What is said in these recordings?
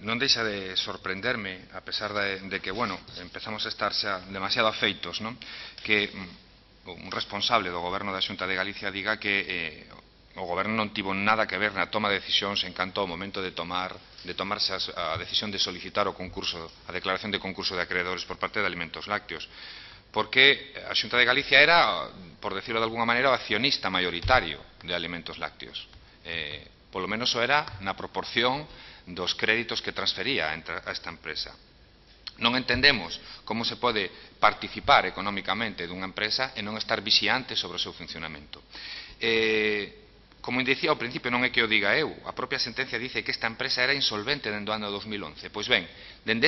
Non deixa de sorprenderme, a pesar de que, bueno, empezamos a estar xa demasiado afeitos, non? Que un responsable do Goberno da Xunta de Galicia diga que o Goberno non tivo nada que ver na toma de decisións en canto ao momento de tomarse a decisión de solicitar o concurso, a declaración de concurso de acreedores por parte de Alimentos Lácteos. Porque a Xunta de Galicia era, por decirlo de alguna maneira, o accionista maioritario de Alimentos Lácteos. Polo menos o era na proporción dos créditos que transfería a esta empresa. Non entendemos como se pode participar económicamente dunha empresa e non estar vixiante sobre o seu funcionamento. Como dicía ao principio, non é que o diga eu, a propia sentencia dice que esta empresa era insolvente dende o ano 2011. Pois ben, dende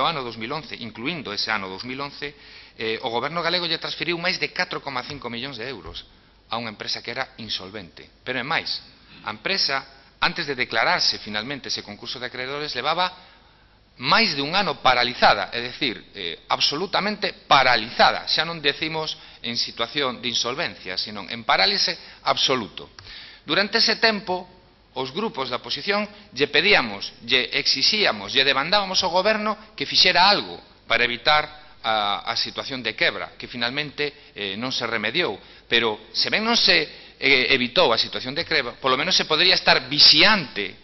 o ano 2011, incluindo ese ano 2011, o Goberno galego lle transferiu máis de 4,5 millóns de euros a unha empresa que era insolvente. Pero é máis, a empresa, antes de declararse finalmente ese concurso de acreedores, levaba máis de un ano paralizada, é dicir, absolutamente paralizada. Xa non decimos en situación de insolvencia, sino en parálise absoluto. Durante ese tempo, os grupos da oposición lle pedíamos, lle exixíamos, lle demandábamos ao Goberno que fixera algo para evitar a situación de quebra, que finalmente non se remediou. Pero, se ben non se evitou a situación de quebra, polo menos se podría estar vixiante,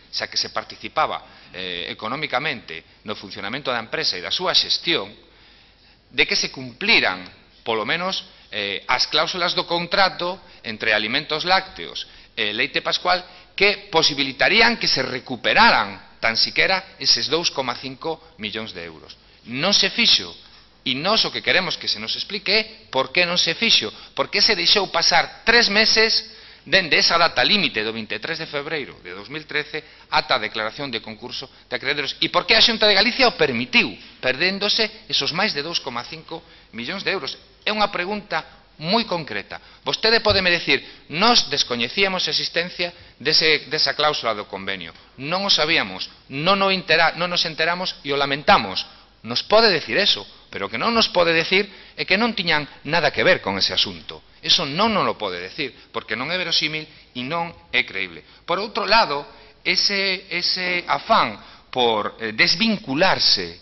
xa que se participaba económicamente no funcionamento da empresa e da súa xestión, de que se cumpliran, polo menos, as cláusulas do contrato entre Alimentos Lácteos e Leite Pascual, que posibilitarían que se recuperaran tan siquera eses 2,5 millóns de euros. Non se fixo. E nós o que queremos que se nos explique é por que non se fixo, por que se deixou pasar 3 meses dende esa data límite do 23 de febreiro de 2013 ata a declaración de concurso de acreedores, e por que a Xunta de Galicia o permitiu, perdéndose esos máis de 2,5 millóns de euros. É unha pregunta moi concreta. Vostede podeme decir, nós descoñecíamos a existencia desa cláusula do convenio, non o sabíamos, non nos enteramos e o lamentamos. Nos pode decir eso, pero o que non nos pode decir é que non tiñan nada que ver con ese asunto. Eso non nos lo pode decir, porque non é verosímil e non é creíble. Por outro lado, ese afán por desvincularse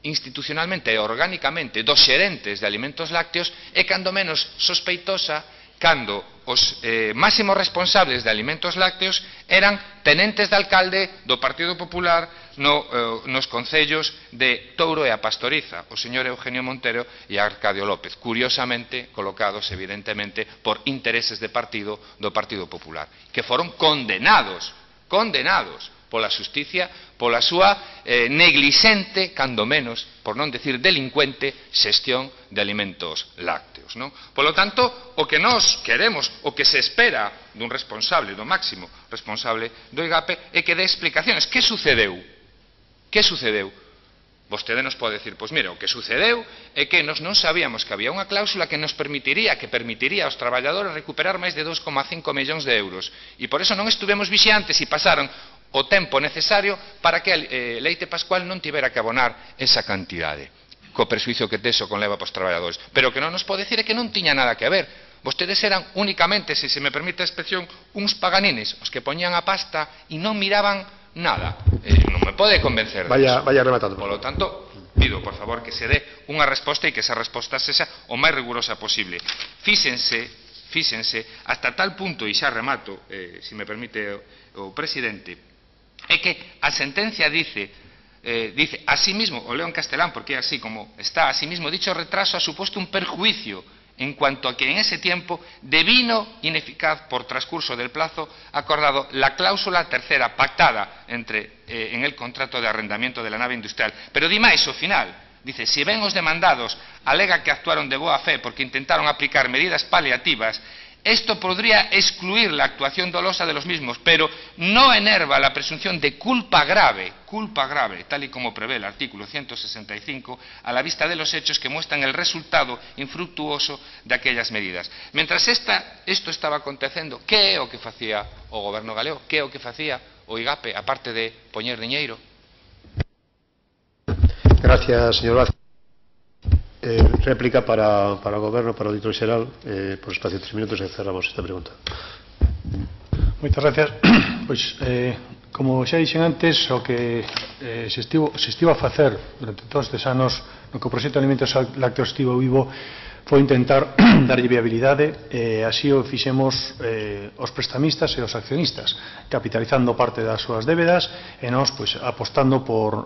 institucionalmente e orgánicamente dos xerentes de Alimentos Lácteos é cando menos sospeitosa cando os máximos responsables de Alimentos Lácteos eran tenentes de alcalde do Partido Popular nos concellos de Touro e a Pastoriza, o señor Eugenio Montero e Arcadio López, curiosamente colocados evidentemente por intereses de partido do Partido Popular, que foron condenados pola xusticia, pola súa neglixente, cando menos, por non decir delincuente, xestión de Alimentos Lácteos. Polo tanto, o que nós queremos, o que se espera dun responsable, do máximo responsable do IGAPE, é que dé explicaciones. Que sucedeu? Que sucedeu? Vostede nos pode decir, pois mira, o que sucedeu é que nos non sabíamos que había unha cláusula que nos permitiría aos traballadores recuperar máis de 2,5 millóns de euros, e por eso non estuvemos vixiantes e pasaron o tempo necesario para que Leite Pascual non tivera que abonar esa cantidade, co persuicio que teso conleva para os traballadores. Pero o que non nos pode decir é que non tiña nada que ver. Vostedes eran únicamente, se me permite a expresión, uns paganines, os que poñían a pasta e non miraban nada. Non me pode convencer de eso. Vaya rematando. Por lo tanto, pido, por favor, que se dé unha resposta e que esa resposta sexa o máis rigurosa posible. Fíxense, hasta tal punto, e xa remato, se me permite o presidente, é que a sentencia dice asimismo, o leo en castelán porque é así como está, asimismo dicho retraso ha supuesto un perjuicio en cuanto a que en ese tiempo devino ineficaz por transcurso del plazo acordado la cláusula tercera pactada en el contrato de arrendamiento de la nave industrial. Pero di máis ao final, dice, si ben os demandados alega que actuaron de boa fe porque intentaron aplicar medidas paliativas, esto podría excluir la actuación dolosa de los mismos, pero no enerva la presunción de culpa grave, tal y como prevé el artículo 165, a la vista de los hechos que muestran el resultado infructuoso de aquellas medidas. Mientras esto estaba acontecendo, que é o que facía o Goberno galego? Que é o que facía o IGAPE, aparte de poñer diñeiro? Gracias, señor Vázquez. Réplica para o Goberno, para o Auditor Xeral, por espacio de 3 minutos e cerramos esta pregunta. Moitas gracias. Pois, como xa dixen antes, o que se estivo a facer durante todos estes anos no que o proxecto de alimentos lácteos estivo vivo foi intentar darlle viabilidade, así o fixemos os prestamistas e os accionistas, capitalizando parte das súas débedas e nós pois, apostando por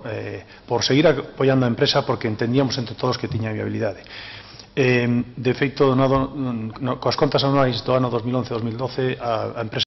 seguir apoiando a empresa porque entendíamos entre todos que tiña viabilidade. De feito, coas contas anuais do ano 2011-2012, a empresa